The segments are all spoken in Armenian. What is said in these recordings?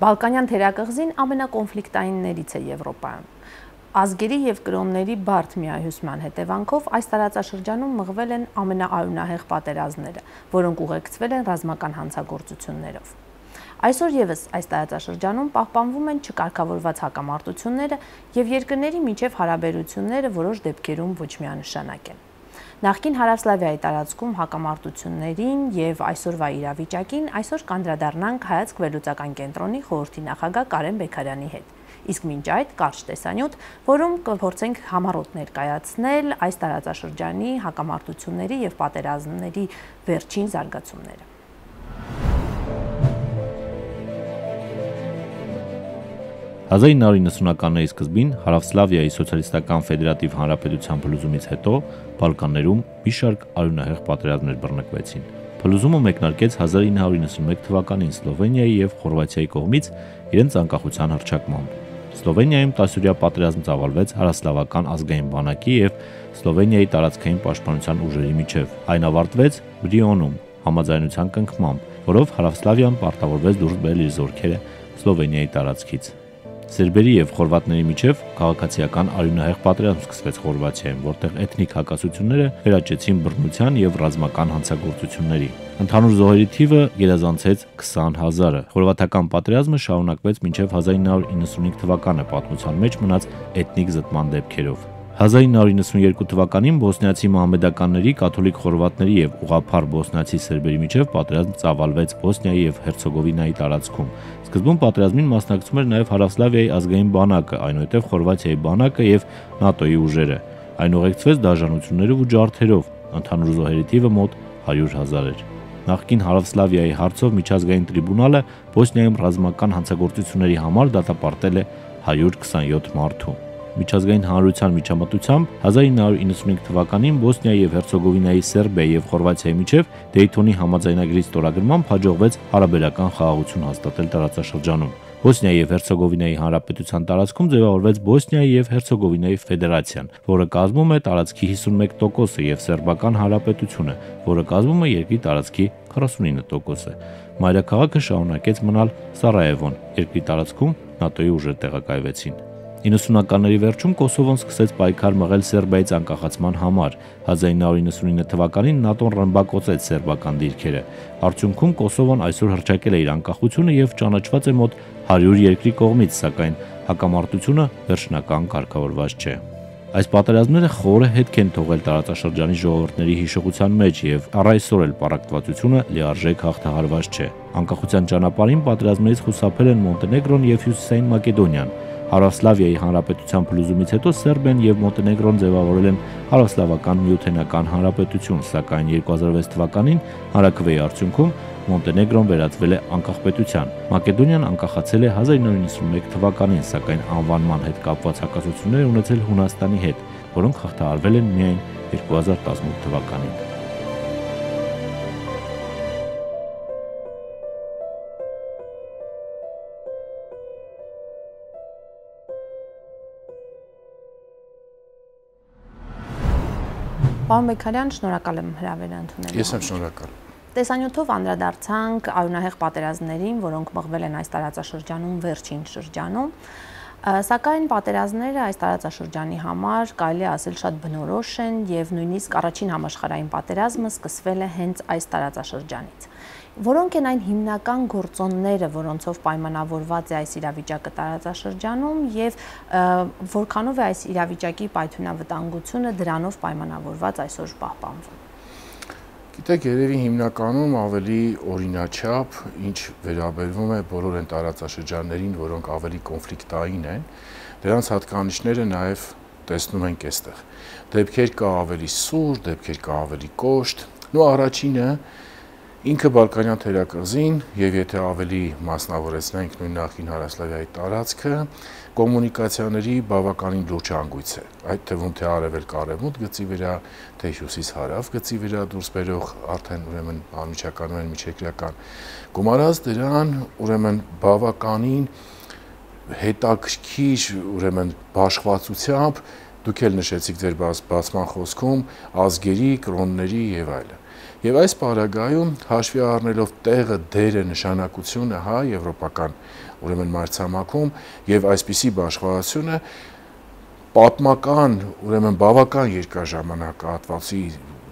Բալկանյան թերակղզին ամենակոնֆլիկտայիններից է Եվրոպայում։ Ազգերի և կրոնների բարդ միահյուսման հետևանքով այս տարածաշրջանում մղվել են ամենաարյունահեղ պատերազմները, որոնք ուղեկցվել են ռազմական հանցագործություններով։ Այսօր ևս այս տարածաշրջանում պահպանվում են չկարգավորված հակամարտությունները և երկրների միջև հարաբերությունները որոշ դեպքերում ոչ միանշանակ են։ Նախկին Հարավսլավիայի տարածքում հակամարտություններին և այսօրվա իրավիճակին այսօր կանդրադառնանք Հայացք վերլուծական կենտրոնի խորհրդի նախագահ Կարեն Բեգարյանի հետ։ Իսկ մինչ այդ կարճ տեսանյութ, որում կփորձենք համառոտ ներկայացնել այս տարածաշրջանի հակամարտությունների և պատերազմների վերջին զարգացումները։ 1990-ականների սկզբին Հարավսլավիայի սոցիալիստական ֆեդերատիվ հանրապետության փլուզումից հետո Բալկաններում մի շարք արյունահեղ պատերազմներ բռնկվեցին։ Փլուզումը մեկնարկեց 1991 թվականին Սլովենիայի և Խորվաթիայի կողմից իրենց անկախության հռչակմամբ։ Սլովենիայում 10-օրյա պատերազմ ծավալվեց Հարավսլավական ազգային բանակի և Սլովենիայի տարածքային պաշտպանության ուժերի միջև։ Այն ավարտվեց Բրիոնում համաձայնության կնքմամբ, որով Հարավսլավիան պարտավորվեց դուրս բերել իր զորքերը Սլովենիայի տարածքից։ Սերբերի և խորվատների միջև քաղաքացիական արյունահեղ պատերազմ սկսվեց Խորվաթիայում, որտեղ էթնիկ հակասությունները վերաճեցին բռնության և ռազմական հանցագործությունների։ Ընդհանուր զոհերի թիվը գերազանցեց 20,000-ը։ Խորվաթական պատերազմը շարունակվեց մինչև 1995 թվականը պատմության մեջ մնաց էթնիկ զտման դեպքերով։ 1992 թվականին բոսնիացի մահմեդականների, կաթոլիկ խորվատների և ուղղափառ բոսնիացի սերբերի միջև պատերազմ ծավալվեց Բոսնիայի և Հերցեգովինայի տարածքում։ Սկզբում պատերազմին մասնակցում էր նաև Հարավսլավիայի ազգային բանակը, այնուհետև Խորվաթիայի բանակը և ՆԱՏՕ-ի ուժերը։ Այն ուղեկցվեց դաժանություններով ու ջարդերով։ Ընդհանուր զոհերի թիվը մոտ 100,000 էր։ Նախկին Հարավսլավիայի հարցով միջազգային տրիբունալը Բոսնիայում ռազմական հանցագործությունների համար դատապարտել է 127 մարդու։ Միջազգային հանրության միջամտությամբ 1995 թվականին Բոսնիայի և Հերցեգովինայի, Սերբիայի և Խորվաթիայի միջև Դեյթոնի համաձայնագրի ստորագրմամբ հաջողվեց հարաբերական խաղաղություն հաստատել տարածաշրջանում։ Բոսնիայի և Հերցեգովինայի հանրապետության տարածքում ձևավորվեց Բոսնիայի և Հերցեգովինայի ֆեդերացիան, որը կազմում է տարածքի 51%-ը, և Սերբական հանրապետությունը, որը կազմում է երկրի տարածքի 49%-ը։ Մայրաքաղաքը շարունակեց մնալ Սարայևոն, երկրի տարածքում ՆԱՏՕ-ի ուժեր տեղակայվեցին։ 90-ականների վերջում Կոսովոն սկսեց պայքար մղել Սերբիայից անկախացման համար։ 1999 թվականին ՆԱՏՕ-ն ռմբակոծեց սերբական դիրքերը։ Արդյունքում Կոսովոն այսօր հռչակել է իր անկախությունը և ճանաչված է մոտ 100 երկրի կողմից, սակայն հակամարտությունը վերջնական կարգավորված չէ։ Այս պատերազմները խորը հետք են թողել տարածաշրջանի ժողովուրդների հիշողության մեջ, և առ այսօր էլ պառակտվածությունը լիարժեք հաղթահարված չէ։ Անկախության ճանապարհին պատերազմներից խուսափել են Մոնտենեգրոն և Հյուսիսային Մակեդոնիան։ Հարավսլավիայի հանրապետության փլուզումից հետո Սերբիան և Մոնտենեգրոն ձևավորել են Հարավսլավական միութենական հանրապետություն, սակայն 2006 թվականին հանրաքվեի արդյունքում Մոնտենեգրոն վերածվել է անկախ պետության։ Մակեդոնիան անկախացել է 1991 թվականին, սակայն անվանման հետ կապված հակասություններ ունեցել Հունաստանի հետ, որոնք հաղթահարվել են միայն 2018 թվականին։ Պարոն Բեգարյան, շնորհակալ եմ հրավերը ընդունելու։ Ես եմ շնորհակալ։ Տեսանյութով անդրադարձանք արյունահեղ պատերազմներին, որոնք մղվել են այս տարածաշրջանում վերջին շրջանում, սակայն պատերազմները այս տարածաշրջանի համար կարելի է ասել շատ բնորոշ են և նույնիսկ առաջին համաշխարհային պատերազմը սկսվել է հենց այս տարածաշրջանից։ Որոնք են այն հիմնական գործոնները, որոնցով պայմանավորված է այս իրավիճակը տարածաշրջանում և որքանով է այս իրավիճակի պայթյունավտանգությունը դրանով պայմանավորված այսօր պահպանվում։ Գիտեք, երևի հիմնականում ավելի օրինաչափ, ինչ վերաբերվում է բոլոր այն տարածաշրջաններին, որոնք ավելի կոնֆլիկտային են, դրանց հատկանիշները նաև տեսնում ենք այստեղ։ Դեպքեր կա ավելի սուր, դեպքեր կա ավելի կոշտ, ու առաջինը ինքը Բալկանյան թերակղզին, եւ եթե ավելի մասնավորեցնենք նույն նախկին Հարավսլավիայի տարածքը, կոմունիկացիաների բավականին լուրջ հանգույց է։ Այդ թվում թե արևելք-արևմուտք գծի վրա, թե հյուսիս-հարավ գծի վրա դուրս բերող արդեն ուրեմն անմիջականորեն միջերկրական գումարած դրան ուրեմն բավականին հետաքրքիր ուրեմն բաշխվածությամբ դուք էլ նշեցիք ձեր բացման խոսքում ազգերի, կրոնների եւ այլն։ Եվ այս պարագայում հաշվի առնելով տեղը, դերը, նշանակությունը, հա, եվրոպական ուրեմն մայրցամաքում եւ այսպիսի բաշխվածությունը պատմական, ուրեմն բավական երկար ժամանակահատվածի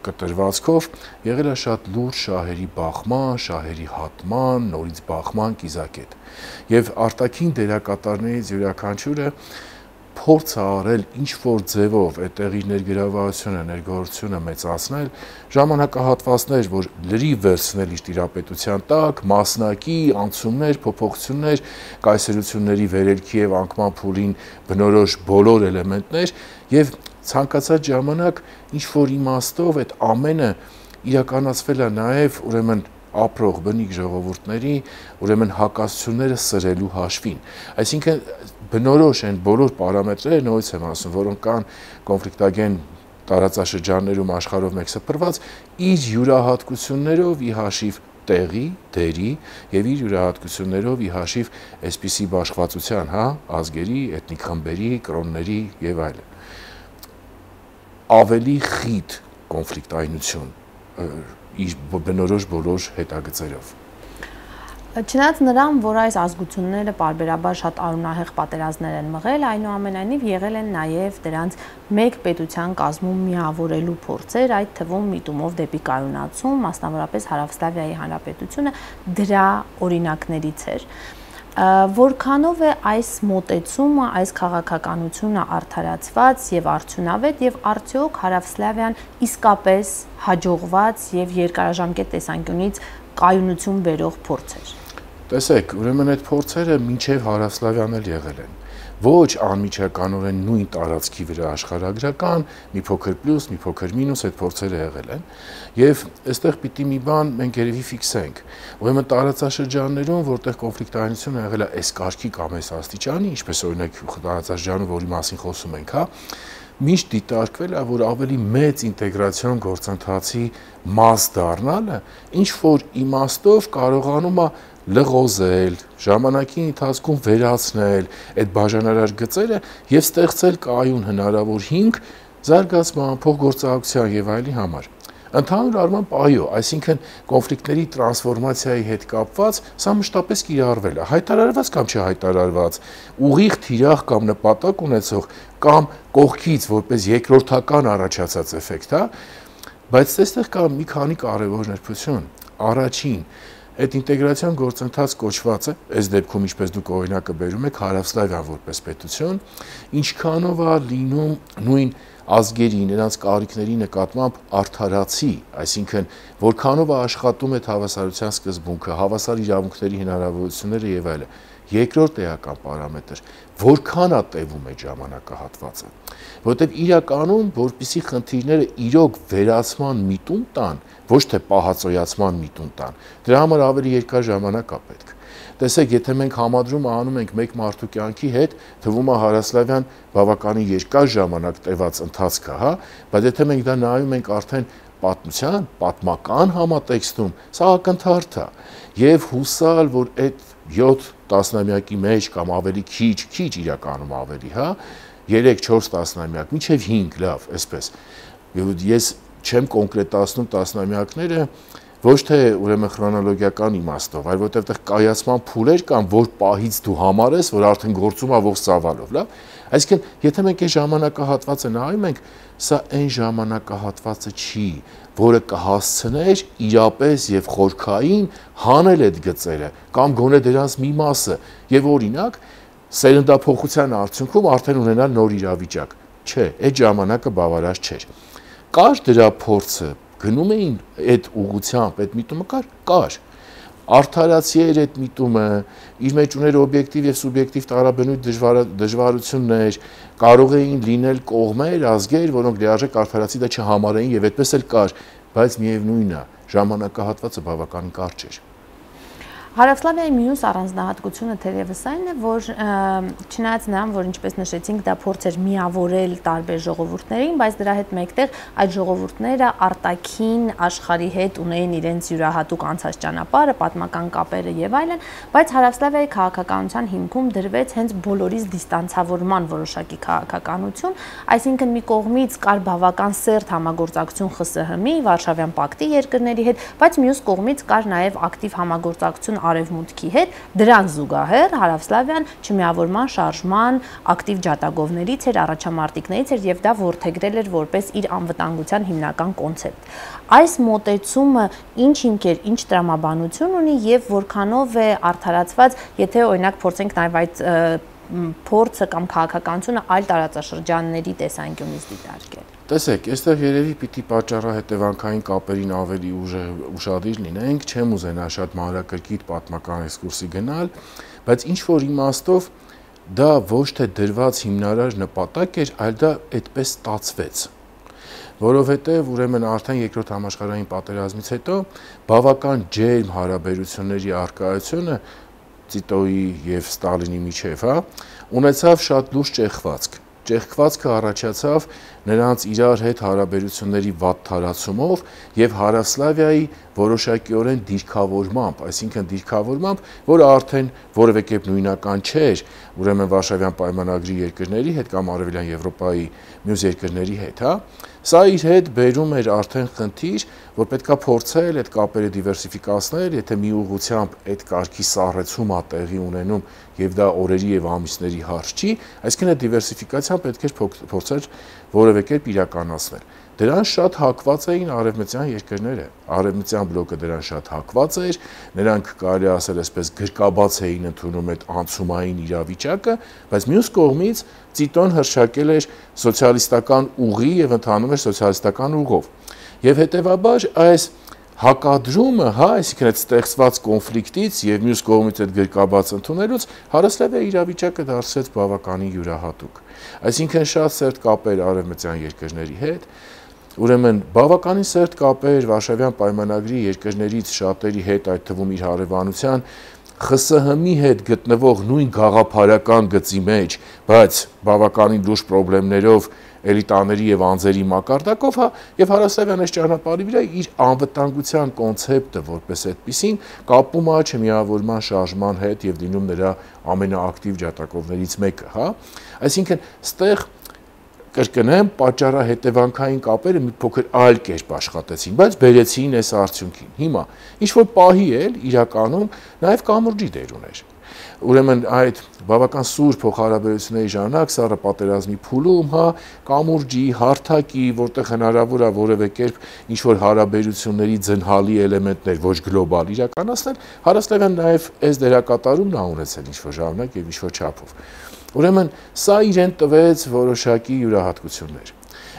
կտրվածքով եղել է շատ լուրջ շահերի բախման, շահերի հատման, նորից բախման կիզակետ։ Եվ արտաքին դերակատարներից յուրաքանչյուրը փորձ է արել ինչ-որ ձևով այդ տեղի ներգրավվածությունը, ներգործությունը մեծացնել, ժամանակահատվածներ, որ լրիվ վերցնել իր տիրապետության տակ, մասնակի, անցումներ, փոփոխություններ, կայսերությունների վերելքի եւ անկման փուլին բնորոշ բոլոր էլեմենտներ եւ ցանկացած ժամանակ ինչ-որ իմաստով այդ ամենը իրականացվել է նաեւ ուրեմն ապրող բնիկ ժողովուրդների ուրեմն հակասությունները սրելու հաշվին։ Այսինքն բնորոշ են բոլոր պարամետրերը, նույնպես եմ ասում, որոնք կան կոնֆլիկտագեն տարածաշրջաններում աշխարհով մեկ սփռված, իր յուրահատկություններով ի հաշիվ տեղի, դերի եւ իր յուրահատկություններով ի հաշիվ այսպիսի բաշխվածության, հա, ազգերի, էթնիկ խմբերի, կրոնների եւ այլն։ Ավելի խիտ կոնֆլիկտայնություն իր բնորոշ բոլոր հետագծերով։ Չնայած նրան, որ այս ազգությունները պարբերաբար շատ արունահեղ պատերազմներ են մղել, այնուամենայնիվ եղել են նաև դրանց մեկ պետության կազմում միավորելու փորձեր, այդ թվում միտումով դեպի կայունացում, մասնավորապես Հարավսլավիայի Հանրապետությունը դրա օրինակներից էր։ Որքանով է այս մոտեցումը, այս քաղաքականությունը արդարացված եւ արդյունավետ եւ արդյոք Հարավսլավիան իսկապես հաջողված եւ երկարաժամկետ տեսանկյունից կայունություն բերող փորձ էր։ Տեսեք, ուրեմն այդ փորձերը մինչև Հարավսլավիան էլ եղել են։ Ոչ անմիջականորեն նույն տարածքի վրա աշխարհագրական, մի փոքր պլյուս, մի փոքր մինուս այդ փորձերը եղել են։ Եվ այստեղ պիտի մի բան մենք երևի ֆիքսենք։ Ուրեմն տարածաշրջաններում, որտեղ կոնֆլիկտայնությունը եղել է այս կարգի կամ այս աստիճանի, ինչպես օրինակ տարածաշրջանը, որի մասին խոսում ենք, հա, միշտ դիտարկվել է, որ ավելի մեծ ինտեգրացիոն գործընթացի մաս դառնալը ինչ որ իմաստով կարողանում է լղոզել, ժամանակի ընթացքում վերացնել այդ բաժանարար գծերը եւ ստեղծել կայուն հնարավոր հիմք զարգացման, փոխգործակցության եւ այլի համար։ Ընդհանուր առմամբ այո, այսինքն կոնֆլիկտների տրանսֆորմացիայի հետ կապված սա մշտապես կիրառվել է, հայտարարված կամ չհայտարարված, ուղիղ թիրախ կամ նպատակ ունեցող կամ կողքից որպես երկրորդական առաջացած էֆեկտ, հա, բայց այստեղ կա մի քանի կարևոր նրբություն։ Առաջին, այդ ինտեգրացիոն գործընթաց կոչված է, այս դեպքում ինչպես դուք օրինակը բերում եք, Հարավսլավիան որպես պետություն, ինչքանով է լինում նույն ազգերի, նրանց կարիքների նկատմամբ արդարացի, այսինքն որքանով է աշխատում այդ հավասարության սկզբունքը, հավասար իրավունքների հնարավորությունները եւ այլն։ Երկրորդ էական պարամետր, որքան է տևում այդ ժամանակահատվածը, որովհետև իրականում, որպիսի խնդիրները իրոք վերացման միտում տան, ոչ թե պահածոյացման միտում տան, դրա համար ավելի երկար ժամանակ է պետք։ Տեսեք, եթե մենք համադրում անում ենք մեկ մարդու կյանքի հետ, թվում է Հարավսլավիան բավականին երկար ժամանակ տևած ընթացք է, հա, բայց եթե մենք դա նայում ենք արդեն պատմության, պատմական համատեքստում, սա ակնթարթ է, եւ հուսալ, որ այդ 7 տասնամյակի մեջ կամ ավելի քիչ իրականում ավելի, հա, 3-4 տասնամյակ, մինչև 5, լավ, այսպես։ Ես չեմ կոնկրետացնում տասնամյակները, ոչ թե ուրեմն քրոնոլոգիական իմաստով, այլ որտեղ այդտեղ կայացման փուլեր կան, որ պահից դու համարես, որ արդեն գործում է ողջ ծավալով, լավ։ Այսինքն, եթե մենք այս ժամանակահատվածը նայում ենք, սա այն ժամանակահատվածը չի, որը կհասցներ իրապես եւ խորքային հանել այդ գծերը կամ գոնե դրանց մի մասը եւ օրինակ սերնդափոխության արդյունքում արդեն ունենալ նոր իրավիճակ։ Չէ, այդ ժամանակը բավարար չէր։ Կար դրա փորձը, գնում էին այդ ուղղությամբ, այդ միտումը կար։ Արդարացի էր այդ միտումը, իր մեջ ուներ օբյեկտիվ եւ սուբյեկտիվ տարաբնույթ դժվարություններ, կարող էին լինել կողմեր, ազգեր, որոնք լիարժեք արդարացի դա չհամարեին եւ այդպես էլ կար, բայց միևնույնն է, ժամանակահատվածը բավականին կարճ էր։ Հարավսլավիայի մյուս առանձնահատկությունը թերևս այն է, որ չնայած նրան, որ ինչպես նշեցինք, դա փորձ էր միավորել տարբեր ժողովուրդներին, բայց դրա հետ մեկտեղ այդ ժողովուրդները արտաքին աշխարհի հետ ունեին իրենց յուրահատուկ անցած ճանապարհը, պատմական կապերը եւ այլն, բայց Հարավսլավիայի քաղաքականության հիմքում դրվեց հենց բոլորից դիստանցավորման որոշակի քաղաքականություն, այսինքն մի կողմից կար բավական սերտ համագործակցություն ԽՍՀՄ-ի, Վարշավյան պակտի երկրների հետ, բայց մյուս կողմից կար նաեւ ակտիվ համագործակցություն Արևմուտքի հետ, դրան զուգահեռ Հարավսլավիան չմիավորման շարժման ակտիվ ջատագովներից էր, առաջամարտիկներից էր եւ դա որդեգրել էր որպես իր անվտանգության հիմնական կոնցեպտ։ Այս մոտեցումը ինչ հիմքեր, ինչ տրամաբանություն ունի եւ որքանով է արդարացված, եթե օրինակ փորձենք նաեւ այդ փորձը կամ քաղաքականությունը այլ տարածաշրջանների տեսանկյունից դիտարկել։ Տեսեք, այստեղ երևի պիտի պատճառահետևանքային կապերին ավելի ուշադիր լինենք, չեմ ուզենա շատ մանրակրկիտ պատմական էքսկուրսի գնալ, բայց ինչ որ իմաստով դա ոչ թե դրված հիմնարար նպատակ էր, այլ դա այդպես ստացվեց։ Որովհետև ուրեմն արդեն երկրորդ համաշխարհային պատերազմից հետո բավական ջերմ հարաբերությունների առկայությունը Տիտոյի եւ Ստալինի միջև, ունեցավ շատ լուրջ ճեղքվածք։ Ճեղքվածքը առաջացավ նրանց իրար հետ հարաբերությունների վատ թարացումով եւ Հարավսլավիայի որոշակիորեն դիրքավորմամբ, այսինքն դիրքավորմամբ, որը արդեն որևէ կերպ նույնական չէր, ուրեմն Վարշավյան պայմանագրի երկրների հետ կամ Արևելյան Եվրոպայի մյուս երկրների հետ, Սա իր հետ բերում էր արդեն խնդիր, որ պետքա փորձել այդ կապերը դիվերսիֆիկացնել, եթե մի ուղղությամբ այդ կարգի սառեցում է տեղի ունենում եւ դա օրերի եւ ամիսների հարց չի, այսինքն այդ դիվերսիֆիկացիան պետք է փորձել որևէ կերպ իրականացնել։ Դրան շատ հակված էին արևմտյան երկրները, արևմտյան բլոկը դրան շատ հակված էր, նրանք կարելի ասել այսպես գրկաբաց էին ընդունում այդ անցումային իրավիճակը, բայց մյուս կողմից Տիտոն հռչակել էր սոցիալիստական ուղի եւ ընթանում էր սոցիալիստական ուղով։ Եվ հետեւաբար այս հակադրումը, այսինքն այդ ստեղծված կոնֆլիկտից եւ մյուս կողմից այդ գրկաբաց ընդունելուց Հարավսլավիայի իրավիճակը դարձրեց բավականին յուրահատուկ։ Այսինքն շատ սերտ կապեր արևմտյան երկրների հետ, ուրեմն բավականին սերտ կապեր Վարշավյան պայմանագրի երկրներից շատերի հետ, այդ թվում իր հարևանության ԽՍՀՄ-ի հետ գտնվող նույն գաղափարական գծի մեջ, բայց բավականին լուրջ խնդիրներով էլիտաների եւ անձերի մակարդակով, եւ Հարավսլավիան այս ճանապարհի վրա իր անվտանգության կոնցեպտը որպես այդպիսին կապում է չմիավորման շարժման հետ եւ լինում նրա ամենաակտիվ ջատագովներից մեկը, Այսինքն, ստեղ կրկնեմ, պատճառահետևանքային կապերը մի փոքր այլ կերպ աշխատեցին, բայց բերեցին այս արդյունքին։ Հիմա, ինչ որ պահի էլ իրականում նաև կամուրջի դեր ուներ։ Ուրեմն այդ բավական սուր փոխհարաբերությունների ժամանակ սառը պատերազմի փուլում, կամուրջի, հարթակի, որտեղ հնարավոր է որևէ կերպ ինչ որ հարաբերությունների ձնհալի էլեմենտներ ոչ գլոբալ իրականացնել, Հարավսլավիան նաև այս դերակատարումն է ունեցել ինչ որ ժամանակ եւ ինչ որ չափով։ Ուրեմն սա իրեն տվեց որոշակի յուրահատկություններ։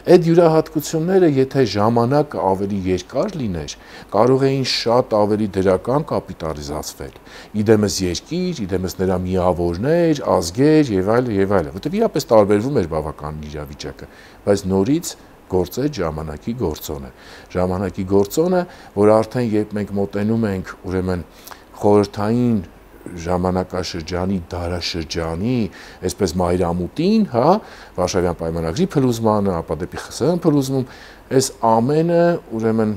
Այդ յուրահատկությունները, եթե ժամանակը ավելի երկար լիներ, կարող էին շատ ավելի դրական կապիտալիզացվել։ Իդեմս երկիր, իդեմս նրա միավորներ, ազգեր եւ այլն, որտեղ իրապես տարբերվում էր բավական իրավիճակը, բայց նորից գործեց ժամանակի գործոնը։ Ժամանակի գործոնը, որ արդեն երբ մենք մոտենում ենք, ուրեմն խորհրդային ժամանակաշրջանի դարաշրջանի, այսպես մայրամուտին, Վարշավյան պայմանագրի փլուզմանը, ապա դեպի ԽՍՀՄ փլուզում, այս ամենը ուրեմն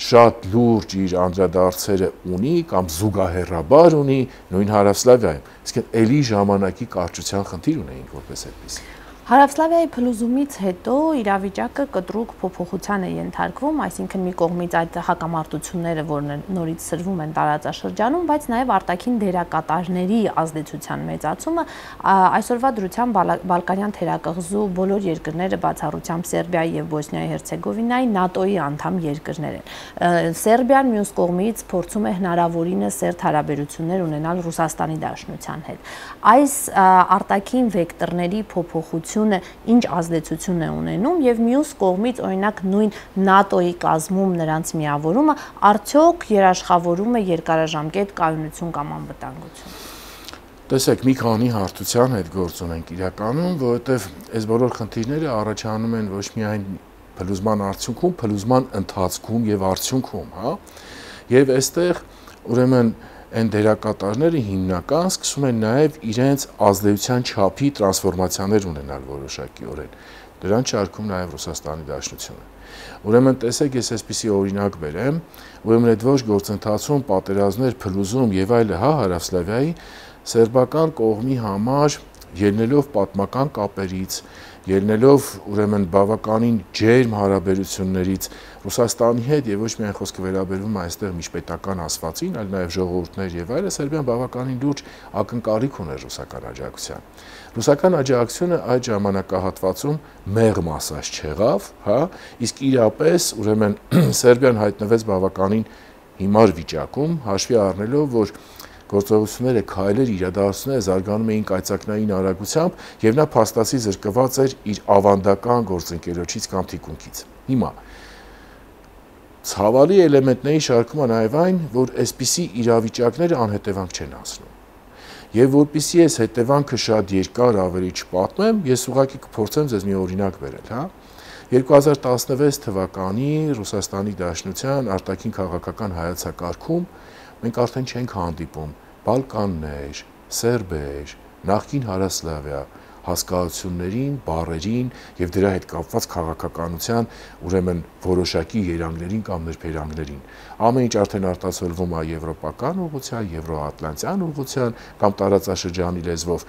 շատ լուրջ իր անդրադարձերը ունի կամ զուգահեռաբար ունի նույն Հարավսլավիայում։ Իսկ էլի ժամանակի կարճության խնդիր ունեինք որպես այդպես։ Հարավսլավիայի փլուզումից հետո իրավիճակը կտրուկ փոփոխության է ենթարկվում, այսինքն մի կողմից այդ հակամարտությունները, որ նորից սրվում են տարածաշրջանում, բայց նաև արտաքին դերակատարների ազդեցության մեծացումը, այսօրվա դրությամբ Բալկանյան թերակղզու բոլոր երկրները բացառությամբ Սերբիայի եւ Բոսնիայի Հերցեգովինայի ՆԱՏՕ-ի անդամ երկրներ են։ Սերբիան մյուս կողմից փորձում է հնարավորինս սերտ հարաբերություններ ունենալ Ռուսաստանի Դաշնության հետ։ Այս արտաքին վեկտորների փոփոխությունը ինչ ազդեցություն է ունենում եւ մյուս կողմից օրինակ նույն ՆԱՏՕ-ի կազմում նրանց միավորումը արդյոք երաշխավորում է երկարաժամկետ կայունություն կամ անվտանգություն։ Տեսեք, մի քանի հարթության հետ գործ ունենք իրականում, որովհետեւ այս բոլոր խնդիրները առաջանում են ոչ միայն փլուզման արդյունքում, փլուզման ընթացքում եւ արդյունքում, Եվ այստեղ ուրեմն այն դերակատարները հիմնական սկսում են նաև իրենց ազդեցության չափի տրանսֆորմացիաներ ունենալ որոշակիորեն։ Դրան չարքում նաև Ռուսաստանի Դաշնությունը։ Ուրեմն տեսեք, ես այսպիսի օրինակ բերեմ, ուրեմն այդ ոչ գործընթացում պատերազմներ, փլուզում եւ այլը, Հարավսլավիայի սերբական կողմի համար ելնելով պատմական կապերից, ելնելով ուրեմն բավականին ջերմ հարաբերություններից Ռուսաստանի հետ եւ ոչ միայն խոսքը վերաբերվում է այստեղ միջպետական ասվածին, այլ նաեւ ժողովուրդներ եւ այլը, Սերբիան բավականին լուրջ ակնկալիք ուներ ռուսական աջակցության։ Ռուսական աջակցությունը այդ ժամանակահատվածում մեղմ ասած չեղավ, իսկ իրապես ուրեմն Սերբիան հայտնվեց բավականին հիմար վիճակում, հաշվի առնելով, որ գործողությունները, քայլեր, իրադարձությունները զարգանում էին կայծակնային արագությամբ եւ նա փաստացի զրկված էր իր ավանդական գործընկերոջից կամ թիկունքից։ Հիմա ցավալի էլեմենտների շարքում է նաեւ այն, որ այսպիսի իրավիճակները անհետևանք չեն անցնում։ Եվ որպեսզի այս հետևանքը շատ երկար ավելի չպատմեմ, ես ուղղակի կփորձեմ ձեզ մի օրինակ բերել, 2016 թվականի Ռուսաստանի Դաշնության արտաքին քաղաքական հայեցակարգում մենք արդեն չենք հանդիպում Բալկաններ, սերբեր, նախկին Հարավսլավիա հասկացություններին, բառերին եւ դրա հետ կապված քաղաքականության ուրեմն որոշակի երանգներին կամ ներբերանգներին։ Ամեն ինչ արդեն արտացոլվում է եվրոպական ուղղության, եվրոատլանտյան ուղղության կամ տարածաշրջանի լեզվով։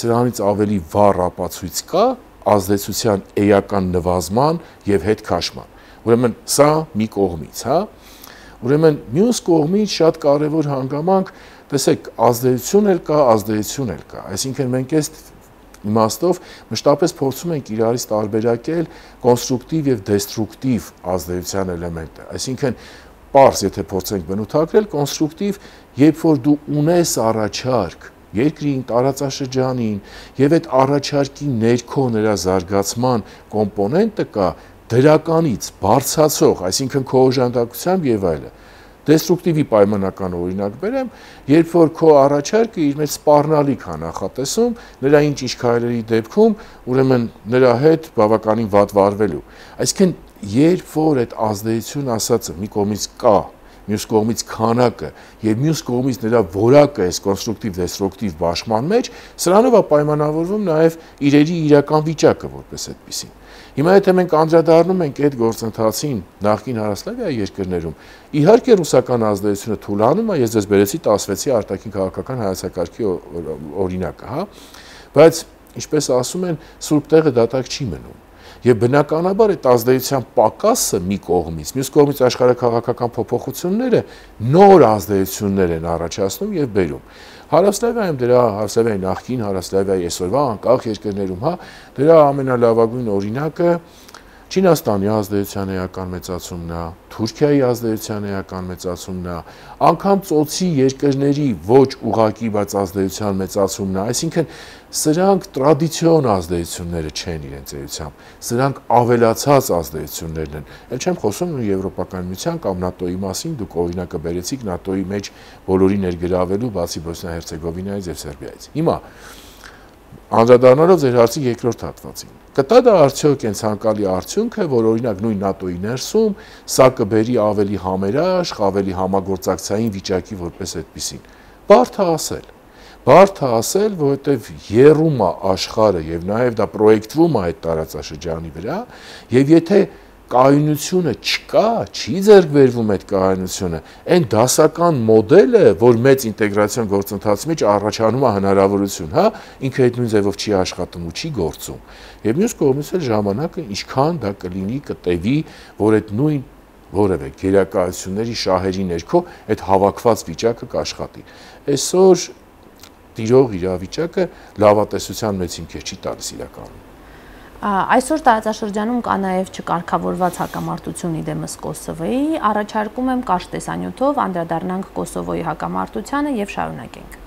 Սրանից ավելի վառ ապացույց կա ազդեցության էական նվազման եւ հետ քաշման։ Ուրեմն սա մի կողմից, Ուրեմն մյուս կողմից շատ կարևոր հանգամանք, տեսեք, ազդեցություն էլ կա, ազդեցություն էլ կա։ Այսինքն մենք այս իմաստով մշտապես փորձում ենք իրարից տարբերակել կոնստրուկտիվ եւ դեստրուկտիվ ազդեցության էլեմենտը։ Այսինքն պարզ, եթե փորձենք բնութագրել, կոնստրուկտիվ, երբ որ դու ունես առաջարկ երկրին, տարածաշրջանին եւ այդ առաջարկի ներքո նրա զարգացման կոմպոնենտը կա դրականից բարձրացող, այսինքն քո օժանդակությամբ եւ այլը։ Դեստրուկտիվի պայմանական օրինակ բերեմ, երբ որ քո առաջարկը իր մեջ սպառնալիք է նախատեսում, նրա ինչ քայլերի դեպքում, ուրեմն նրա հետ բավականին վատ վարվելու։ Այսինքն, երբ որ այդ ազդեցություն ասածը մի կողմից կա, մյուս կողմից քանակը եւ մյուս կողմից նրա որակը այս կոնստրուկտիվ դեստրուկտիվ բաշխման մեջ, սրանով է պայմանավորվում նաեւ իրերի իրական վիճակը որպես այդպեսին։ Հիմա եթե մենք անդրադառնում ենք այդ գործընթացին նախկին Հարավսլավիայի երկրներում, իհարկե ռուսական ազդեցությունը թուլանում է, ես ձեզ բերեցի 16-ի արտաքին քաղաքական հայեցակարգի օրինակը, բայց ինչպես ասում են, սուրբ տեղը դատարկ չի մնում։ Եվ բնականաբար այդ ազդեցության պակասը մի կողմից, մյուս կողմից աշխարհաքաղաքական փոփոխությունները նոր ազդեցություններ են առաջացնում եւ բերում։ Հարավսլավիայում դրա Հարավսլավիայի նախկին Հարավսլավիայի այսօրվա անկախ երկրներում, դրա ամենալավագույն օրինակը Չինաստանի ազդեցության էական մեծացումն է, Թուրքիայի ազդեցության էական մեծացումն է, անգամ ծոցի երկրների ոչ ուղղակի, բայց ազդեցության մեծացումն է, այսինքն սրանք տրադիցիոն ազդեցությունները չեն իրենց էությամբ, սրանք ավելացած ազդեցություններն են։ Էլ չեմ խոսում Եվրոպական միության կամ ՆԱՏՕ-ի մասին, դուք օրինակը բերեցիք ՆԱՏՕ-ի մեջ բոլորի ներգրավելու, բացի Բոսնիա-Հերցեգովինայից եւ Սերբիայից։ Հիմա անդրադառնալով ձեր հարցի երկրորդ հատվածին, կտա դա արդյոք այն ցանկալի արդյունքը, որ օրինակ նույն ՆԱՏՕ-ի ներսում սա կբերի ավելի համերաշխ, ավելի համագործակցային վիճակի որպես այդպեսին։ Բարդ է ասել, որովհետև եռում է աշխարհը եւ նաեւ դա պրոյեկտվում է այդ տարածաշրջանի վրա, եւ եթե կայունությունը չկա, չի ձեռք բերվում այդ կայունությունը, այն դասական մոդելը, որ մեծ ինտեգրացիոն գործընթացի մեջ առաջանում է հնարավորություն, ինքը այդ նույն ձևով չի աշխատում ու չի գործում։ Եվ մյուս կողմից էլ ժամանակը ինչքան դա կլինի, կտևի, որ այդ նույն որևէ գերակայությունների շահերի ներքո այդ հավաքված վիճակը կաշխատի։ Այսօր տիրող իրավիճակը լավատեսության մեծ հիմքեր չի տալիս իրականում։ Այսօր տարածաշրջանում կա նաև չկարգավորված հակամարտություն իդեմս Կոսովոյի, առաջարկում եմ կարճ տեսանյութով անդրադառնանք Կոսովոյի հակամարտությանը եւ շարունակենք։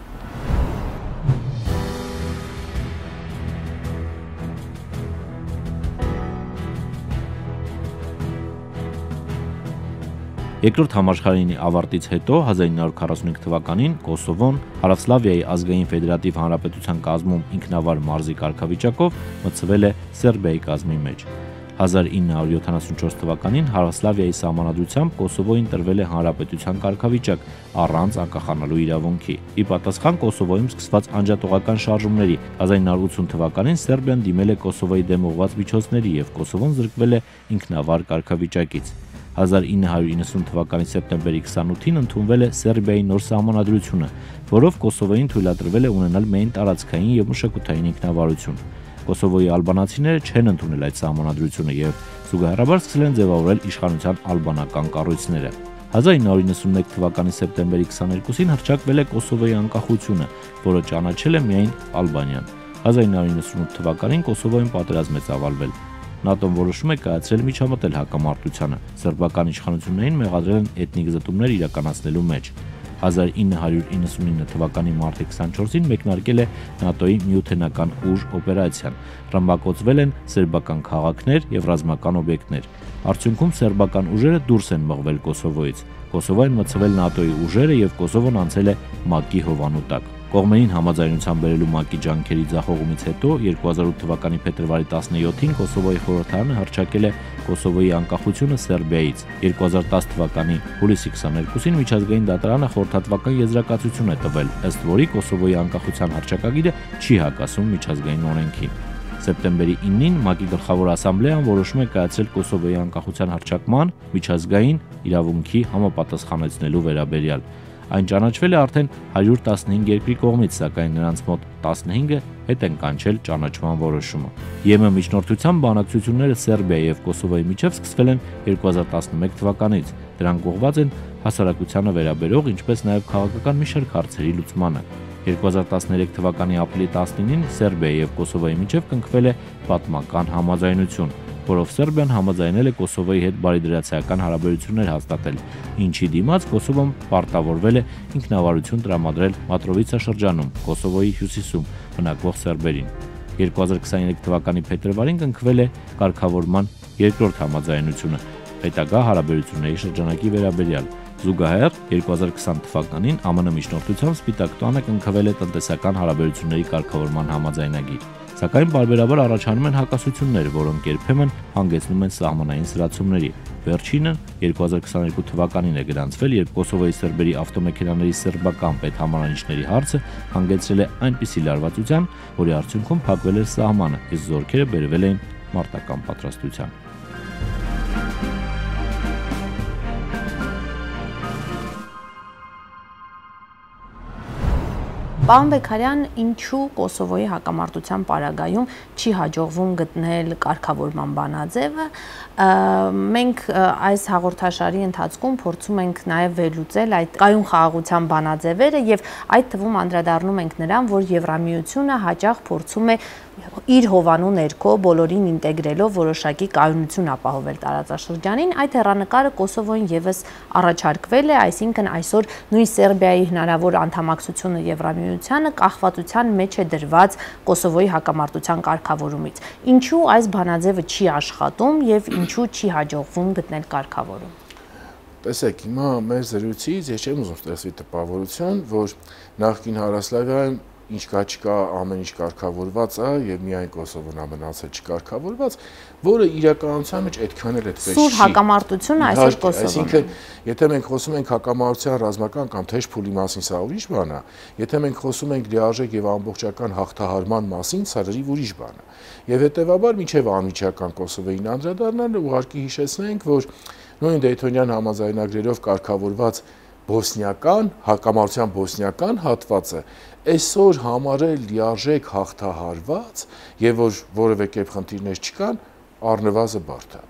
Երկրորդ համաշխարհային ավարտից հետո 1945 թվականին Կոսովոն Հարավսլավիայի ազգային ֆեդերատիվ հանրապետության կազմում ինքնավար մարզի կարգավիճակով մտցվել է Սերբիայի կազմի մեջ։ 1974 թվականին Հարավսլավիայի սահմանադրությամբ Կոսովոյին տրվել է հանրապետության կարգավիճակ առանց անկախանալու իրավունքի։ Ի պատասխան Կոսովոյում սկսված անջատողական շարժումների 1980 թվականին Սերբիան դիմել է Կոսովոյի դեմ ուղղված միջոցների եւ Կոսովոն զրկվել է ինքնավար կարգավիճակից։ 1990 թվականի սեպտեմբերի 28-ին ընդունվել է Սերբիայի նոր սահմանադրությունը, որով Կոսովոյին թույլատրվել է ունենալ միայն տարածքային եւ մշակութային ինքնավարություն։ Կոսովոյի ալբանացիները չեն ընդունել այդ սահմանադրությունը եւ զուգահեռաբար սկսել են ձևավորել իշխանության ալբանական կառույցները։ 1991 թվականի սեպտեմբերի 22-ին հռչակվել է Կոսովոյի անկախությունը, որը ճանաչել է միայն Ալբանիան։ 1998 թվականին Կոսովոյում պատերազմ է ծավալվել։ ՆԱՏՕ-ն որոշում է կայացրել միջամտել հակամարտությանը։ Սերբական իշխանություններին մեղադրել են էթնիկ զտումներ իրականացնելու մեջ։ 1999 թվականի մարտի 24-ին մեկնարկել է ՆԱՏՕ-ի միութենական ուժ օպերացիան։ Ռմբակոծվել են սերբական քաղաքներ եւ ռազմական օբյեկտներ։ Արդյունքում սերբական ուժերը դուրս են մղվել Կոսովոյից։ Կոսովոյին մցվել ՆԱՏՕ-ի ուժերը եւ Կոսովոն անցել է ՄԱԿ-ի հովանու տակ։ Կողմերին համաձայնության բերելու ՄԱԿ-ի ջանքերի ձախողումից հետո 2008 թվականի փետրվարի 17-ին Կոսովոյի խորհրդարանը հռչակել է Կոսովոյի անկախությունը Սերբիայից։ 2010 թվականի հուլիսի 22-ին միջազգային դատարանը խորհրդատվական եզրակացություն է տվել, ըստ որի Կոսովոյի անկախության հռչակագիրը չի հակասում միջազգային օրենքին։ Սեպտեմբերի 9-ին ՄԱԿ-ի գլխավոր ասամբլեան որոշում է կայացրել Կոսովոյի անկախության հռչակման միջազգային իրավունքի համապատասխանեցնելու վերաբերյալ։ Այն ճանաչվել է արդեն 115 երկրի կողմից, սակայն նրանց մոտ 15-ը հետ են կանչել ճանաչման որոշումը։ ԵՄ միջնորդության բանակցությունները Սերբիայի եւ Կոսովոյի միջև սկսվել են 2011 թվականից։ Դրանք ուղղված են հասարակությանը վերաբերող, ինչպես նաեւ քաղաքական մի շարք հարցերի լուծմանը։ 2013 թվականի ապրիլի 19-ին Սերբիայի եւ Կոսովոյի միջև կնքվել է պատմական համաձայնություն, որով Սերբիան համաձայնել է Կոսովոյի հետ բարիդրացիական հարաբերություններ հաստատել, ինչի դիմաց Կոսովոն պարտավորվել է ինքնավարություն տրամադրել Մատրովիցա շրջանում, Կոսովոյի հյուսիսում բնակվող սերբերին։ 2023 թվականի փետրվարին կնքվել է կարգավորման երկրորդ համաձայնությունը հետագա հարաբերությունների շրջանակի վերաբերյալ։ Զուգահեռ 2020 թվականին ԱՄՆ միջնորդությամբ Սպիտակ տանը կնքվել է տնտեսական հարաբերությունների կարգավորման համաձայնագիր։ Սակայն բարբերաբար առաջանում են հակասություններ, որոնք երբեմն հանգեցնում են սահմանային սրացումների։ Վերջինը 2022 թվականին է գրանցվել, երբ Կոսովոյի սերբերի ավտոմեքենաների սերբական պետհամարանիշների հարցը հանգեցրել է այնպիսի լարվածության, որի արդյունքում փակվել էր սահմանը, իսկ զորքերը բերվել էին մարտական պատրաստության։ Պարոն Բեգարյան, ինչու Կոսովոյի հակամարտության պարագայում չի հաջողվում գտնել կարգավորման բանաձևը։ Մենք այս հաղորդաշարի ընթացքում փորձում ենք նաև վերլուծել այդ կայուն խաղաղության բանաձևերը եւ այդ թվում անդրադառնում ենք նրան, որ Եվրամիությունը հաճախ փորձում է իր հովանու ներքո բոլորին ինտեգրելով որոշակի կայունություն ապահովել տարածաշրջանին, այդ հեռանկարը Կոսովոյին եւս առաջարկվել է, այսինքն այսօր նույն Սերբիայի հնարավոր անդամակցությունը Եվրամիությանը կախվածության մեջ է դրված Կոսովոյի հակամարտության կարգավորումից։ Ինչու այս բանաձևը չի աշխատում եւ ինչու չի հաջողվում գտնել կարգավորում։ Տեսեք, հիմա մեր զրույցից ես չեմ ուզում ստեղծվի տպավորություն, որ նախկին Հարավսլավիայում ինչ կա չկա ամեն ինչ կարգավորված է եւ միայն Կոսովոն է մնացել չկարգավորված, որը իրականության մեջ այդքան էլ այդպես չի։ Սուր հակամարտությունը այսօր Կոսովոն։ Այսինքն, եթե մենք խոսում ենք հակամարտության ռազմական կամ թեժ փուլի մասին, սա ուրիշ բան է։ Եթե մենք խոսում ենք լիարժեք եւ ամբողջական հաղթահարման մասին, սա լրիվ ուրիշ բան է։ Եվ հետեւաբար մինչեւ անմիջական Կոսովոյին անդրադառնալը ուղղակի հիշեցնենք, որ նույն Դեյթոնյան համաձայնագրերով կարգավորված բոսնիական, հակամարտության բոսնիական հատվածը այսօր համարել լիարժեք հաղթահարված եւ որ որևէ կերպ խնդիրներ չկան, առնվազն բարդ է։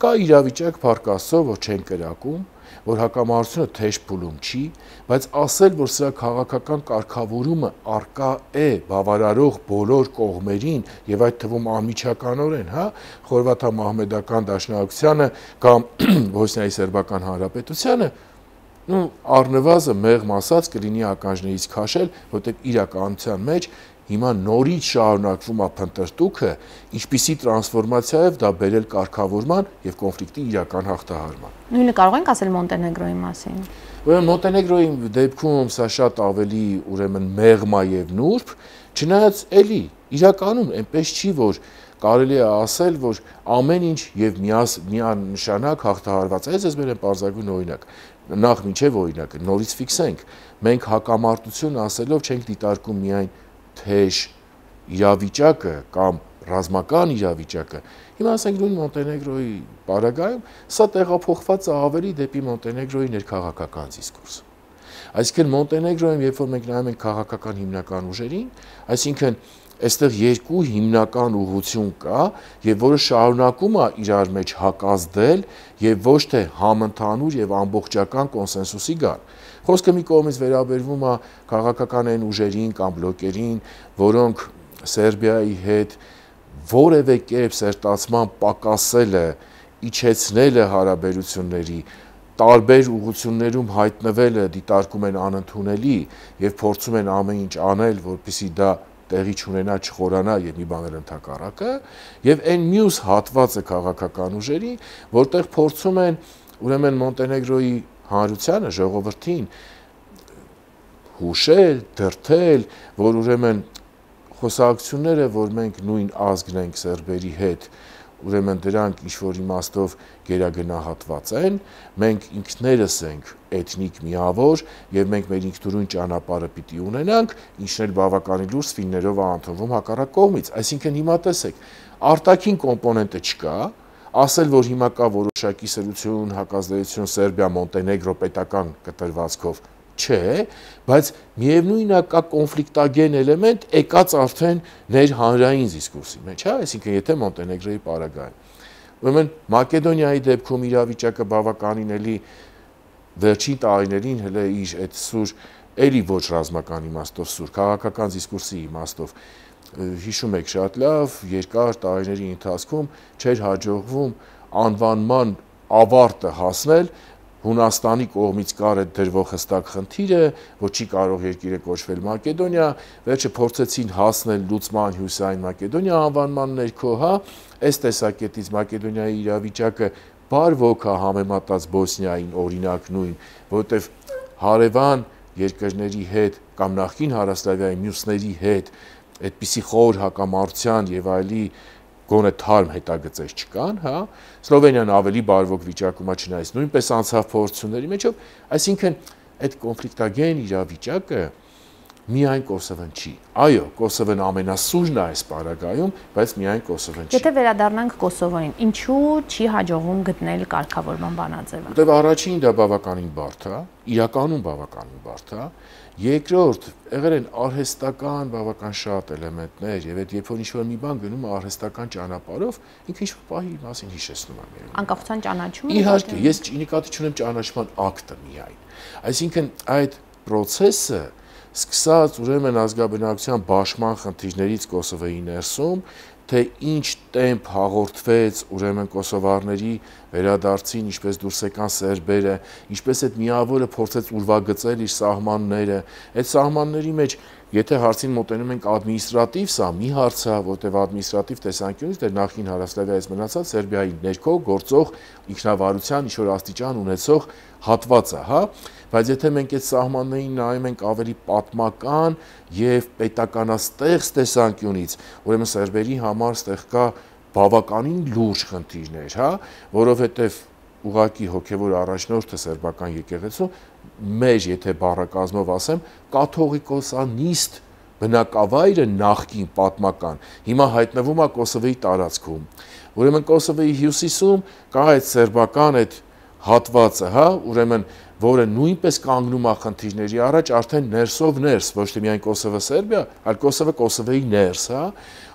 Կա իրավիճակ Փառք Աստծո, որ չեն կրակում, որ հակամարտությունը թեժ փուլում չի, բայց ասել, որ սրա քաղաքական կարգավորումը արկա է բավարարող բոլոր կողմերին եւ այդ թվում անմիջականորեն, հա, խորվաթա-մահմեդական դաշնակցությանը կամ Բոսնիայի սերբական հանրապետությանը, առնվազն մեղմ ասած կլինի ականջներից քաշել, որտեղ իրականության մեջ հիմա նորից շարունակվում է փնտրտուքը, ինչպիսի տրանսֆորմացիայով դա բերել կարգավորման եւ կոնֆլիկտի իրական հաղթահարման։ Նույնը կարող ենք ասել Մոնտենեգրոյի մասին։ Ուրեմն Մոնտենեգրոյի դեպքում սա շատ ավելի ուրեմն մեղմ է եւ նուրբ, չնայած էլի իրականում այնպես չի, որ կարելի է ասել, որ ամեն ինչ եւ միանշանակ հաղթահարված է։ Ես բերեմ պարզագույն օրինակ։ Նախ մինչև օրինակը նորից ֆիքսենք, մենք հակամարտություն ասելով չենք դիտարկում միայն թեժ իրավիճակը կամ ռազմական իրավիճակը։ Հիմա ասենք նույն Մոնտենեգրոյի պարագայում սա տեղափոխված է ավելի դեպի Մոնտենեգրոյի ներքաղաքական դիսկուրսը։ Այսինքն Մոնտենեգրոյում, երբ որ մենք նայում ենք քաղաքական հիմնական ուժերին, այսինքն այստեղ երկու հիմնական ուղղություն կա, եւ որը շարունակում է իրար մեջ հակազդել եւ ոչ թե համընդհանուր եւ ամբողջական կոնսենսուսի գալ։ Խոսքը մի կողմից վերաբերվում է քաղաքական այն ուժերին կամ բլոկերին, որոնք Սերբիայի հետ որևէ կերպ սերտացման պակասել է, իջեցնել է հարաբերությունների, տարբեր ուղղություններում հայտնվելը դիտարկում են անընդունելի եւ փորձում են ամեն ինչ անել, որպեսզի դա տեղի չունենա, չխորանա եւ մի բան էլ ընդհակառակը, եւ այն մյուս հատվածը քաղաքական ուժերի, որտեղ փորձում են ուրեմն Մոնտենեգրոյի հանրությանը, ժողովրդին հուշել, դրդել, որ ուրեմն խոսակցությունները, որ մենք նույն ազգն ենք սերբերի հետ, ուրեմն դրանք ինչ-որ իմաստով գերագնահատված են, մենք ինքներս ենք էթնիկ միավոր եւ մենք մեր ինքնուրույն ճանապարհը պիտի ունենանք, ինչն էլ բավականին լուրջ ֆիլմերով է ընդունվում հակառակ կողմից։ Այսինքն հիմա տեսեք, արտաքին կոմպոնենտը չկա, ասել, որ հիմա կա որոշակի սրություն, հակազդեցություն Սերբիա-Մոնտենեգրո պետական կտրվածքով չէ, բայց միևնույնն է կա կոնֆլիկտագեն էլեմենտ եկած արդեն ներհանրային դիսկուրսի մեջ, հա, այսինքն եթե Մոնտենեգրոյի պարագայում։ Ուրեմն Մակեդոնիայի դեպքում իրավիճակը բավականին էլի վերջին տարիներին հələ իր այդ սուր էլի ոչ ռազմական իմաստով սուր քաղաքական դիսկուրսի իմաստով հիշում եք շատ լավ, երկար տարիների ընթացքում չէր հաջողվում անվանման ավարտը հասնել Հունաստանի կողմից կար այդ դրվող հստակ խնդիրը, որ չի կարող երկիրը կոչվել Մակեդոնիա, վերջը փորձեցին հասնել լուծման հյուսային Մակեդոնիա անվանման ներքո, հա, այս տեսակետից Մակեդոնիայի իրավիճակը բարվոք է համեմատած Բոսնիային օրինակ նույն, որովհետև հարևան երկրների հետ կամ նախկին Հարավսլավիայի մյուսների հետ այդպիսի խոր հակամարտության եւ այլի գոնե թարմ հետագծեր չկան, հա, Սլովենիան ավելի բարվոք վիճակում է չնայած նույնպես անցավ փորձությունների մեջով, այսինքն այդ կոնֆլիկտագեն իրավիճակը միայն Կոսովոն չի։ Այո, Կոսովոն ամենասուրն է այս պարագայում, բայց միայն Կոսովոն չի։ Եթե վերադառնանք Կոսովոյին, ինչու չի հաջողվում գտնել կարգավորման բանաձևը։ Որտեւ առաջին դա բավականին բարդ է, իրականում բավականին բարդ է, երկրորդ եղել են արհեստական բավական շատ էլեմենտներ եւ այդ երբ որ ինչ-որ մի բան գնում է արհեստական ճանապարհով, ինքը ինչ-որ պահի մասին հիշեցնում է միայն։ Անկախության ճանաչումը։ Իհարկե, ես նկատի չունեմ ճանաչման ակտը միայն։ Այսինքն այդ process-ը սկսած ուրեմն ազգաբնակության բաշխման խնդիրներից Կոսովոյի ներսում, թե ինչ տեմպ հաղորդվեց ուրեմն կոսովարների վերադարձին, ինչպես դուրս եկան սերբերը, ինչպես այդ միավորը փորձեց ուրվագծել իր սահմանները, այդ սահմանների մեջ եթե հարցին մոտենում ենք ադմինիստրատիվ, սա մի հարց է, որտեղ ադմինիստրատիվ տեսանկյունից դեռ նախին Հարավսլավիայից մնացած Սերբիայի ներքո գործող ինքնավարության ինչ-որ աստիճան ունեցող հատված է, հա, բայց եթե մենք այդ սահմաններին նայում ենք ավելի պատմական եւ պետականաստեղծ տեսանկյունից, ուրեմն սերբերի համար ստեղ կա բավականին լուրջ խնդիրներ, հա, որովհետեւ ուղղակի հոգևոր առաջնորդը սերբական եկեղեցու մեր, եթե բառակազմով ասեմ, կաթողիկոսանիստ բնակավայրը նախկին պատմական հիմա հայտնվում է Կոսովոյի տարածքում։ Ուրեմն Կոսովոյի հյուսիսում կա այդ սերբական այդ հատվածը, հա, ուրեմն որը նույնպես կանգնում է խնդիրների առաջ արդեն ներսով ներս, ոչ թե միայն Կոսովո-Սերբիա, այլ Կոսովո-Կոսովոյի ներս, հա,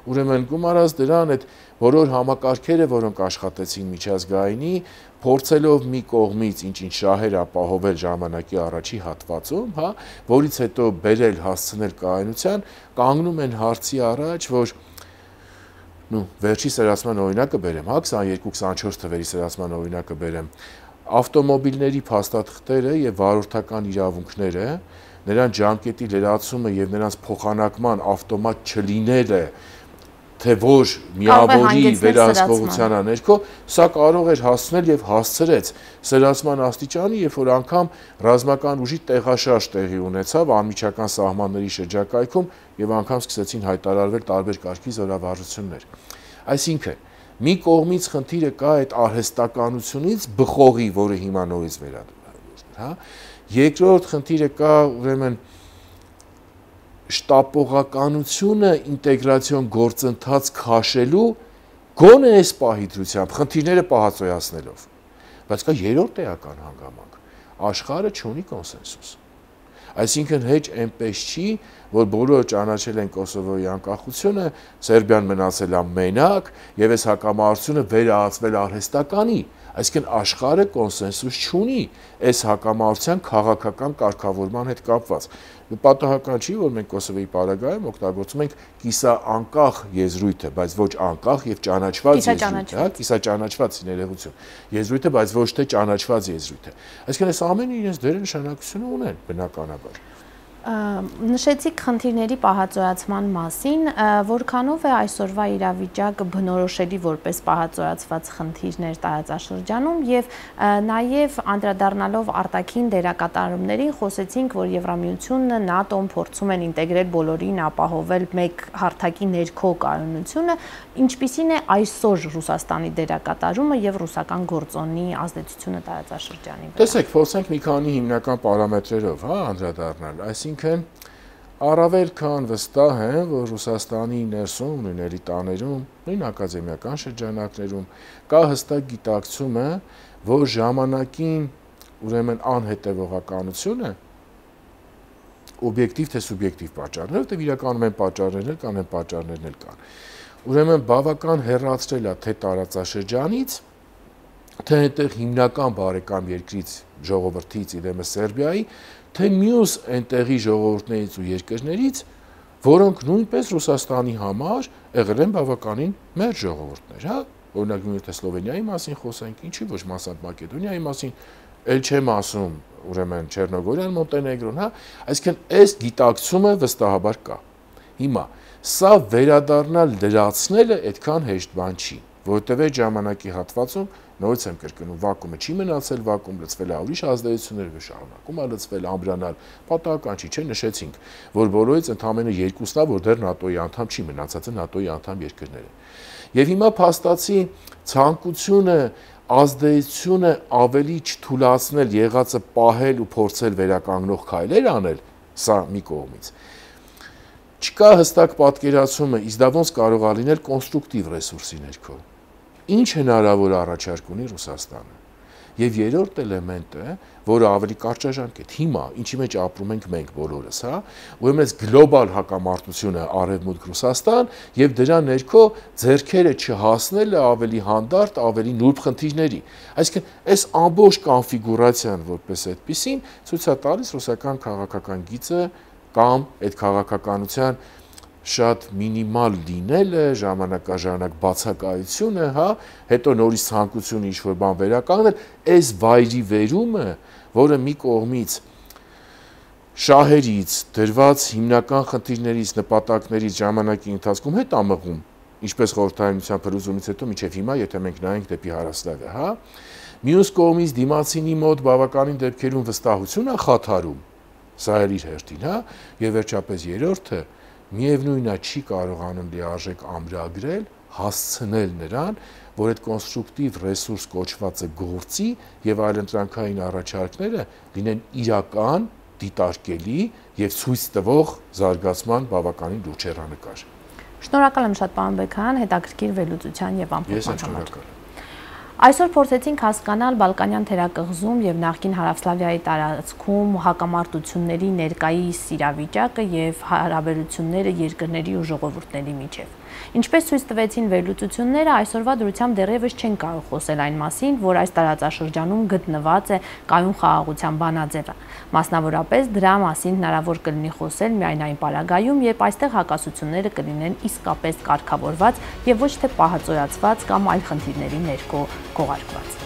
ուրեմն գումարած դրան այդ բոլոր համակարգերը, որոնք աշխատեցին միջազգայինի, փորձելով մի կողմից ինչ-ինչ շահեր ապահովել ժամանակի առաջի հատվածում, հա, որից հետո բերել հասցնել կայունության, կանգնում են հարցի առաջ, որ վերջի սերացման օրինակը բերեմ, հա, 22-24 թվերի սերացման օրինակը բերեմ, ավտոմոբիլների փաստաթղթերը եւ վարորդական իրավունքները, նրանց ժամկետի լրացումը եւ նրանց փոխանակման ավտոմատ չլինելը, թե որ միավորի վերահսկողության ներքո, սա կարող էր հասնել եւ հասցրեց սերացման աստիճանի, երբ որ անգամ ռազմական ուժի տեղաշարժ տեղի ունեցավ անմիջական սահմանների շրջակայքում եւ անգամ սկսեցին հայտարարվել տարբեր կարգի զորավարժություններ։ Այսինքն, մի կողմից խնդիրը կա այդ արհեստականությունից բխողի, որը հիմա նորից վերադառնում, հա։ Երկրորդ խնդիրը կա, ուրեմն շտապողականությունը ինտեգրացիոն գործընթաց քաշելու գոնե այս պահի դրությամբ խնդիրները պահածոյացնելով, բայց կա երրորդ էական հանգամանք, աշխարհը չունի կոնսենսուս, այսինքն հեչ այնպես չի, որ բոլորը ճանաչել են Կոսովոյի անկախությունը, Սերբիան մնացել է մենակ եւ այս հակամարտությունը վերահացվել արհեստականի, այսինքն աշխարհը կոնսենսուս չունի այս հակամարտության քաղաքական կարգավորման հետ կապված։ Պատահական չի, որ մենք Կոսովոյի պարագայում օգտագործում ենք կիսաանկախ եզրույթը, բայց ոչ անկախ եւ ճանաչված եզրույթ, հա, կիսաճանաչված ներողություն։ Եզրույթը, բայց ոչ թե ճանաչված եզրույթը։ Այսինքն այս ամենը իրենց դերը նշանակությունը ունեն բնականաբար։ Նշեցիք խնդիրների պահածոյացման մասին, որքանով է այսօրվա իրավիճակը բնորոշելի որպես պահածոյացված խնդիրներ տարածաշրջանում եւ նաեւ անդրադառնալով արտաքին դերակատարումներին խոսեցինք, որ Եվրամիությունն, ՆԱՏՕ-ն փորձում են ինտեգրել բոլորին, ապահովել մեկ հարթակի ներքո կայունությունը, ինչպիսին է այսօր Ռուսաստանի դերակատարումը եւ ռուսական գործոնի ազդեցությունը տարածաշրջանի վրա։ Տեսեք, փորձենք մի քանի հիմնական պարամետրերով, հա, անդրադառնալ, այսինքն առավել քան վստահ եմ, որ Ռուսաստանի ներսում, նույների տաներում, նույն ակադեմիական շրջանակներում կա հստակ գիտակցումը, որ ժամանակին ուրեմն անհետևողականությունը օբյեկտիվ թե սուբյեկտիվ պատճառներ, որտեղ իրականում են պատճառներ կան, են պատճառներն էլ կան։ Ուրեմն բավական հեռացրել է թե տարածաշրջանից, թե այնտեղ հիմնական բարեկամ երկրից, ժողովրդից, իրեմս Սերբիայի, թե մյուս այնտեղի ժողովուրդներից ու երկրներից, որոնք նույնպես Ռուսաստանի համար եղել են բավականին մեր ժողովուրդներ, հա, օրինակ նույնիսկ Սլովենիայի մասին խոսենք, ինչի ոչ մասամբ Մակեդոնիայի մասին, ել չեմ ասում, ուրեմն Չեռնոգորիան, Մոնտենեգրոն, հա, այսինքն այս գիտակցումը վստահաբար կա։ Հիմա սա վերադառնալ լրացնելը այդքան հեշտ բան չի, որովհետև այդ ժամանակի հատվածում նորից եմ կրկնում, վակումը չի մնացել, վակում լցվել է ուրիշ ազդեցություններ, շարունակում է լցվել, ամբրանալ, պատահական չի, չէ, նշեցինք, որ բոլորից ընդամենը երկուսն է, որ դեռ ՆԱՏՕ-ի անդամ չի, մնացածը ՆԱՏՕ-ի անդամ երկրներ են։ Եվ հիմա փաստացի ցանկությունը, ազդեցությունը ավելի չթուլացնել, եղածը պահել ու փորձել վերականգնող քայլեր անել, սա մի կողմից։ Չկա հստակ պատկերացումը, իսկ դա ոնց կարող է լինել կոնստրուկտիվ ռեսուրսի ներքո։ Ինչ հնարավոր առաջարկ ունի Ռուսաստանը։ Եվ երրորդ էլեմենտը, որը ավելի կարճաժամկետ է, հիմա ինչի մեջ ապրում ենք մենք բոլորս, հա, ուրեմն այս գլոբալ հակամարտությունը Արևմուտք Ռուսաստան եւ դրա ներքո ձեռքերը չհասնելը ավելի հանդարտ, ավելի նուրբ խնդիրների։ Այսինքն այս ամբողջ կոնֆիգուրացիան որպես այդպեսին ցույց է տալիս ռուսական քաղաքական գիծը կամ այդ քաղաքականության շատ մինիմալ լինելը, ժամանակաժանակ բացակայությունը, հա, հետո նորից ցանկությունը ինչ-որ բան վերականգնել, այս վայրի վերումը, որը մի կողմից շահերից, դրված հիմնական խնդիրներից, նպատակներից ժամանակի ընթացքում հետ ամղում, ինչպես խորհրդային փլուզումից հետո մինչև հիմա, եթե մենք նայենք դեպի Հարավսլավիա, հա, մյուս կողմից դիմացինի մոտ բավականին դեպքերում վստահություն է խաթարում, սա էլ իր հերթին, հա, եւ վերջապես երրորդը միևնույնն է չի կարողանում լիարժեք ամրագրել, հասցնել նրան, որ այդ կոնստրուկտիվ ռեսուրս կոչվածը գործի եւ այլընտրանքային առաջարկները լինեն իրական, դիտարկելի եւ ցույց տվող զարգացման բավականին լուրջ հեռանկար։ Շնորհակալ եմ շատ, պարոն Բեգհայան, հետաքրքիր վերլուծության եւ ամփոփման համար։ Ես Այսօր փորձեցինք հասկանալ Բալկանյան թերակղզում եւ նախկին Հարավսլավիայի տարածքում հակամարտությունների ներկայիս իրավիճակը եւ հարաբերությունները երկրների ու ժողովուրդների միջեւ։ Ինչպես ցույց տվեցին վերլուծությունները, այսօրվա դրությամբ դեռևս չեն կարող խոսել այն մասին, որ այս տարածաշրջանում գտնված է կայուն խաղաղության բանաձևը։ Մասնավորապես դրա մասին հնարավոր կլինի խոսել միայն այն պարագայում, երբ այստեղ հակասությունները կլինեն իսկապես կարգավորված եւ ոչ թե պահածոյացված կամ այլ խնդիրների ներքո քողարկված։